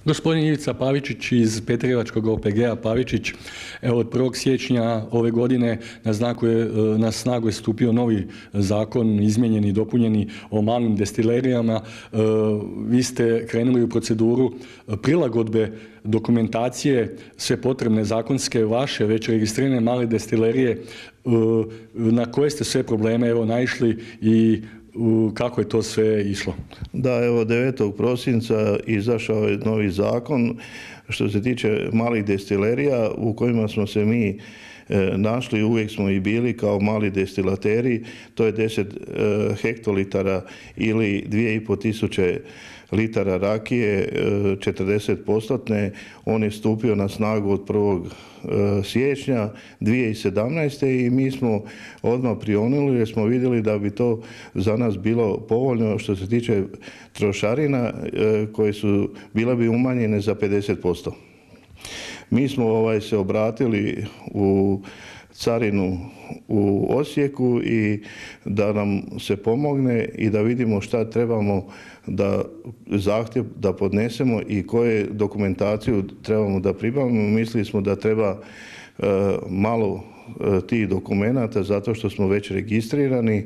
Gospodin Ivica Pavičić iz Petrijevačkog OPG-a Pavičić, evo od 1. siječnja ove godine na snagu je stupio novi zakon, izmijenjeni i dopunjeni o malim destilerijama. Vi ste krenuli u proceduru prilagodbe dokumentacije, sve potrebne zakonske, vaše već registrirane male destilerije, na koje ste sve probleme naišli i kako je to sve išlo? Da, evo 9. prosinca izašao je novi zakon što se tiče malih destilerija u kojima smo se mi našli, uvijek smo i bili kao mali destilateri, to je 10 hektolitara ili 2500 litara rakije, 40%. On je stupio na snagu od 1. siječnja 2017. i mi smo odmah prionuli jer smo vidjeli da bi to za nas bilo povoljno što se tiče trošarina koje su bile bi umanjene za 50%. Mi smo se obratili u carinu u Osijeku i da nam se pomogne i da vidimo šta trebamo da zahtjev da podnesemo i koje dokumentaciju trebamo da pribavimo. Mislili smo da treba malo tih dokumenata zato što smo već registrirani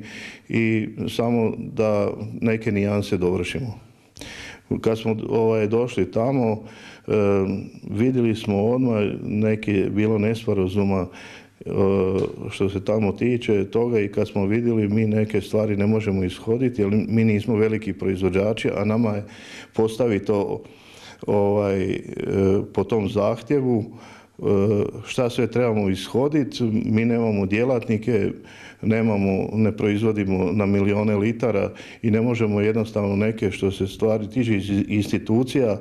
i samo da neke nijanse dovršimo. Kad smo došli tamo, vidjeli smo odmah neke bilo nesporazuma što se tamo tiče toga i kad smo vidjeli mi neke stvari ne možemo ishoditi jer mi nismo veliki proizvođači, a nama je postaviti to po tom zahtjevu šta sve trebamo ishoditi. Mi nemamo djelatnike, ne proizvodimo na milijone litara i ne možemo jednostavno neke što se stvari tiče iz institucija,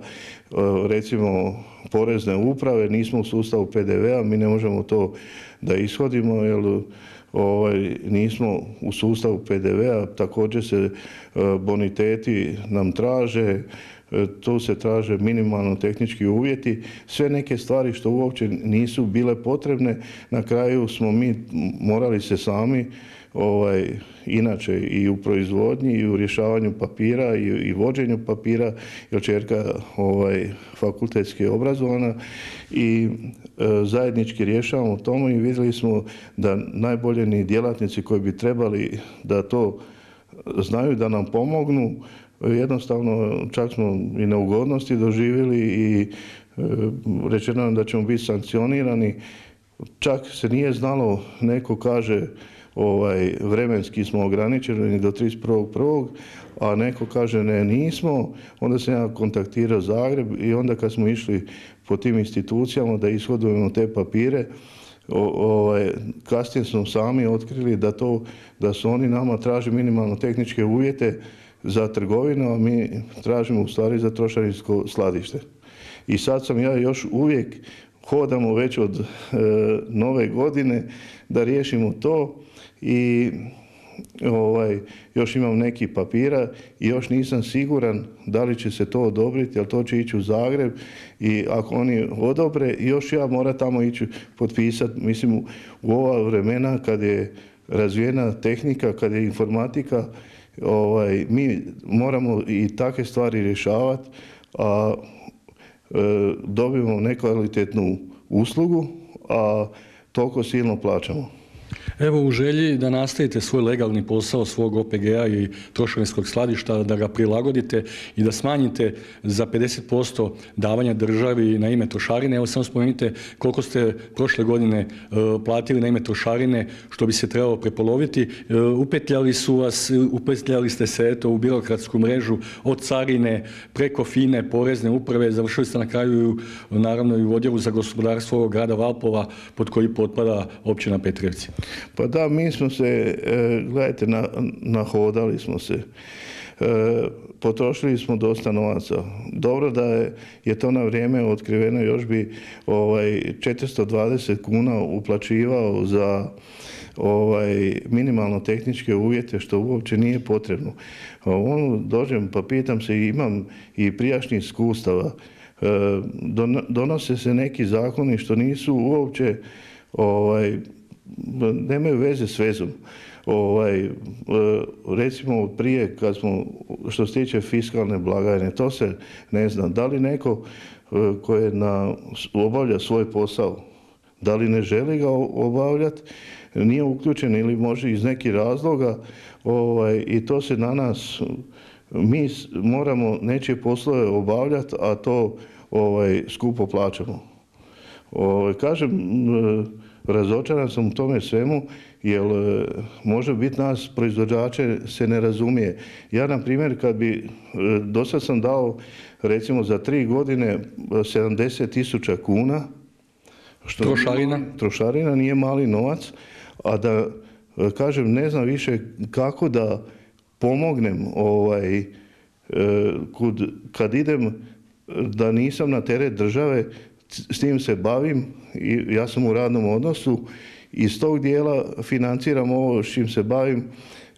recimo porezne uprave, nismo u sustavu PDV-a, mi ne možemo to da ishodimo jer nismo u sustavu PDV-a, također se boniteti nam traže, tu se traže minimalno tehnički uvjeti, sve neke stvari što uopće nisu bile potrebne. Na kraju smo mi morali se sami, inače i u proizvodnji i u rješavanju papira i vođenju papira, jer ćerka fakultetski je obrazovana i zajednički rješavamo tomu i vidjeli smo da najbolje ni djelatnici koji bi trebali da to znaju da nam pomognu, jednostavno čak smo i neugodnosti doživjeli i rečeno nam da ćemo biti sankcionirani. Čak se nije znalo, neko kaže vremenski smo ograničeni do 31.1., a neko kaže ne, nismo. Onda sam ja kontaktirao Zagreb i onda kad smo išli po tim institucijama da ishodujemo te papire, kasnije smo sami otkrili da su oni nama traže minimalno tehničke uvjete za trgovinu, a mi tražimo u stvari za trošarinsko skladište. I sad sam ja još uvijek hodamo već od nove godine da riješimo to i još imam neki papira i još nisam siguran da li će se to odobriti, jer to će ići u Zagreb i ako oni odobre, još ja moram tamo ići potpisati. Mislim, u ova vremena kad je razvijena tehnika, kad je informatika, mi moramo i takve stvari rješavati, a dobijemo nekvalitetnu uslugu, a toliko silno plaćamo. Evo, u želji da nastavite svoj legalni posao svog OPG-a i trošarinskog skladišta, da ga prilagodite i da smanjite za 50% davanja državi na ime trošarine, evo samo spomenite koliko ste prošle godine platili na ime trošarine, što bi se trebalo prepoloviti. Upetljali ste se u birokratsku mrežu od carine preko FINE, porezne uprave, završili ste na kraju naravno i u odjelu za gospodarstvo grada Valpova pod koji potpada općina Petrijevci. Pa da, mi smo se, gledajte, nahodali smo se. Potrošili smo dosta novaca. Dobro da je to na vrijeme otkriveno, još bi 420 kuna uplaćivao za minimalno tehničke uvjete, što uopće nije potrebno. Dođem pa pitam se, imam i prijašnjih iskustava, donose se neki zakoni što nisu uopće nemaju veze s vezom. recimo prije kad smo, što se tiče fiskalne blagajne, to se ne zna. Da li neko koji obavlja svoj posao, da li ne želi ga obavljati, nije uključen ili može iz nekih razloga i to se na nas, mi moramo nečije poslove obavljati, a to skupo plaćamo. Kažem, razočaran sam u tome svemu, jer može biti nas proizvođače se ne razumije. Ja, na primjer, kad bi, dosad sam dao recimo za 3 godine 70.000 kuna, što trošarina nije mali novac, a da kažem, ne znam više kako da pomognem kad idem, da nisam na teret države, s tim se bavim i ja sam u radnom odnosu, iz tog dijela financiram ovo s čim se bavim,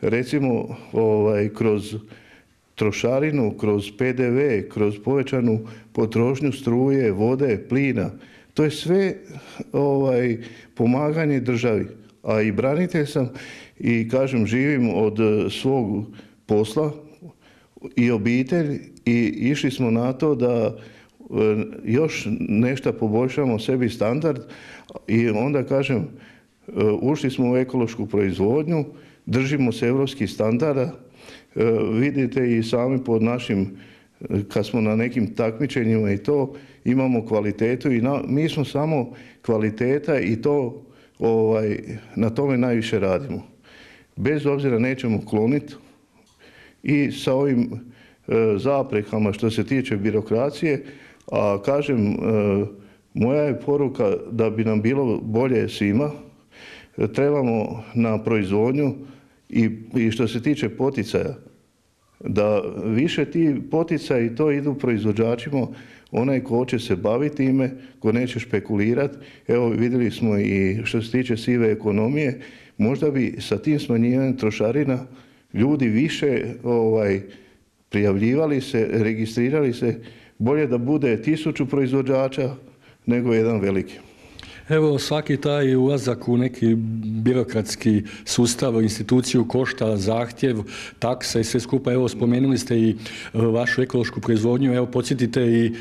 recimo kroz trošarinu, kroz PDV, kroz povećanu potrošnju struje, vode, plina. To je sve pomaganje državi. A i branitelj sam i kažem, živim od svog posla i obitelj i išli smo na to da još nešto poboljšamo sebi standard i onda kažem, ušli smo u ekološku proizvodnju, držimo se europskih standarda, vidite i sami pod našim, kad smo na nekim takmičenjima i to, imamo kvalitetu i mi smo samo kvaliteta i to na tome najviše radimo. Bez obzira nećemo kloniti i sa ovim zaprekama što se tiče birokracije, a kažem, moja je poruka da bi nam bilo bolje svima, trebamo na proizvodnju i što se tiče poticaja, da više ti poticaji to idu proizvođačima, onaj ko će se baviti time, ko neće špekulirati. Evo, vidjeli smo i što se tiče sive ekonomije, možda bi sa tim smanjivanjem trošarina ljudi više prijavljivali se, registrirali se, bolje da bude 1000 proizvođača nego jedan veliki. Evo, svaki taj ulazak u neki birokratski sustav, instituciju košta zahtjev, taksa i sve skupa. Evo, spomenuli ste i vašu ekološku proizvodnju. Evo, podsjetite i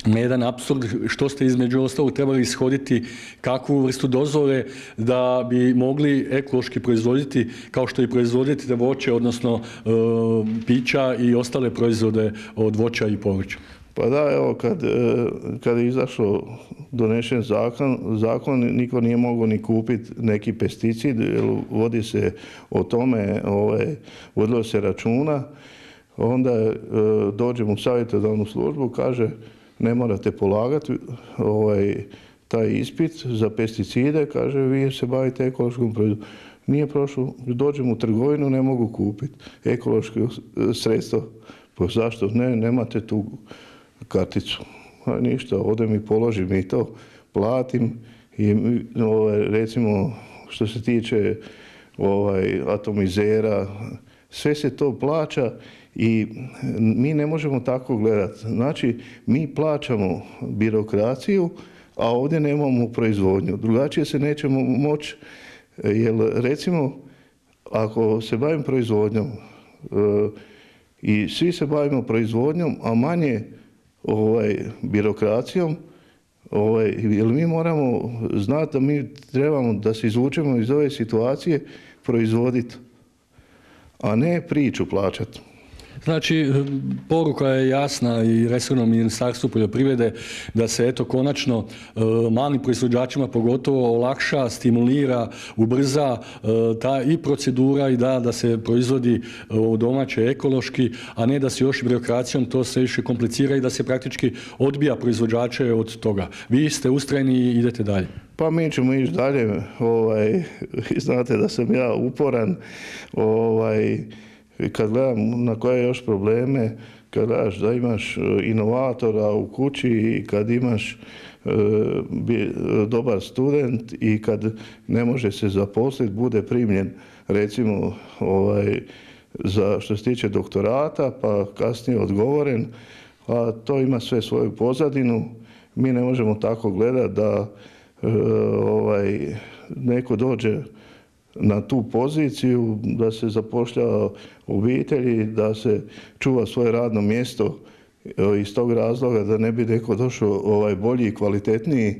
na jedan apsurd, što ste između ostalog trebali ishoditi, kakvu vrstu dozvole da bi mogli ekološki proizvoditi, kao što i proizvoditi voće, odnosno pića i ostale proizvode od voća i povrća. Pa da, evo, kad je izašlo, donešen zakon, niko nije mogao ni kupiti neki pesticid, jer vodi se o tome, vodilo se računa, onda dođem u savjetodavnu službu, kaže, ne morate polagati taj ispit za pesticide, kaže, vi se bavite ekološkom proizvodom. Nije prošlo, dođem u trgovinu, ne mogu kupiti ekološko sredstvo. Pa zašto? Nemate tu karticu. A ništa, odem i položim i to, platim i recimo što se tiče atomizera, sve se to plaća i mi ne možemo tako gledati. Znači, mi plaćamo birokraciju, a ovdje nemamo proizvodnju. Drugačije se nećemo moći, jer recimo, ako se bavim proizvodnjom i svi se bavimo proizvodnjom, a manje birokracijom, jer mi moramo znati da mi trebamo da se izvučemo iz ove situacije, proizvoditi, a ne priču plaćati. Znači, poruka je jasna i resornom Ministarstvu poljoprivrede da se eto konačno malim proizvođačima pogotovo olakša, stimulira, ubrza ta i procedura i da se proizvodi domaće ekološki, a ne da se još birokracijom to sve više komplicira i da se praktički odbija proizvođače od toga. Vi ste ustrajni i idete dalje. Pa mi ćemo ići dalje. Znate da sam ja uporan. Kad gledam na koje još probleme, kad gledaš da imaš inovatora u kući i kad imaš dobar student i kad ne može se zaposliti, bude primljen recimo za što se tiče doktorata, pa kasnije odgovoren, a to ima sve svoju pozadinu. Mi ne možemo tako gledati da neko dođe na tu poziciju, da se zapošljava obitelji, da se čuva svoje radno mjesto iz tog razloga da ne bi neko došao bolji i kvalitetniji